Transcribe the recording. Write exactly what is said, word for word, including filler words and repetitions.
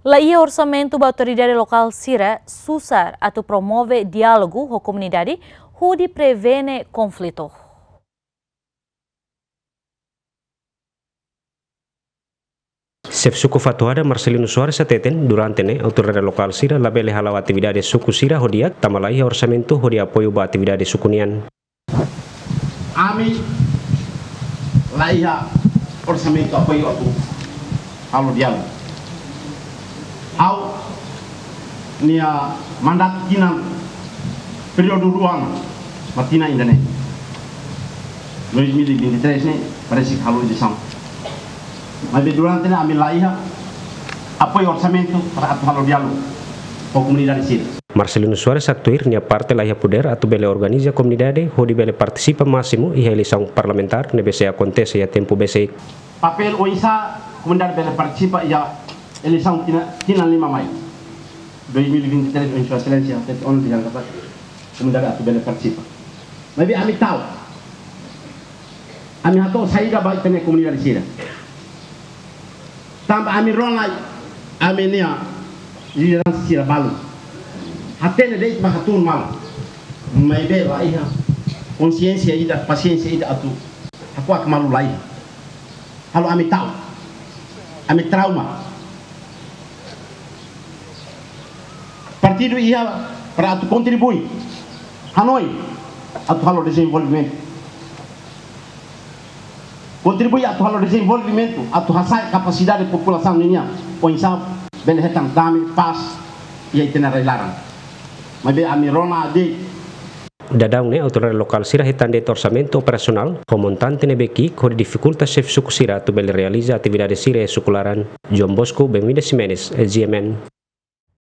La iha orsamentu ba autoridade lokál sira susar atu promove diálogu ho komunidade hodi prevene konflitu. Xefe suku Fatuhada, Marcelino Soares, hateten durante ne'e autoridade lokál sira labele hala'o atividade suku sira ho di'ak tanba la iha orsamentu hodi apoiu ba atividade suku nian. Ami la iha orsamentu apoiu atu halo diálogu. Ha'u-nia mandatu tinan, períodu rua ona, mak tinan ida-ne'e. Dois mil e vinte e três ne'e, parese ke halo eleisaun. Maibé durante ne'e ami la iha apoiu orsamentu para atu halo diálogu ho komunidade sira. Marcelino Soares haktuir nia parte la iha podér atu bele organiza komunidade hodi bele partisipa másimu iha eleisaun parlamentár ne'ebé sei akontese iha tempu besik. Papél oinsá komunidade bele partisipa iha eleisaun tinan, tinan lima mai dois mil e vinte e três, ohin Sua Exelénsia hatete ona dehan katak komunidade atu bele partisipa. Maibé ami ta'uk. Ami hato'o saida ba ita-nia komunidade sira. Tanba ami rona, ami-nia lideransa sira balu hatene de'it mak hatún malu. Maibé la iha konsiénsia ida, pasiénsia ida atu hakuak malu, la iha. Halo ami ta'uk. Ami trauma. Partidu iha para atu kontribui, hanoin atu halo dezenvolvimentu. Kontribui atu halo dezenvolvimentu, atu hasa'e kapasidade populasaun ninian, oinsá bele hetan dame, pás iha ita-nia rai-laran. Maibé ami rona de'it. Daudaun ne'e autoridade lokál sira hetan de'it orsamentu operasionál ho montante ne'ebé ki'ik hodi difikulta xefe suku sira atu bele realiza atividade sira iha suku laran. João Bosco Benvida Ximenes, G M N.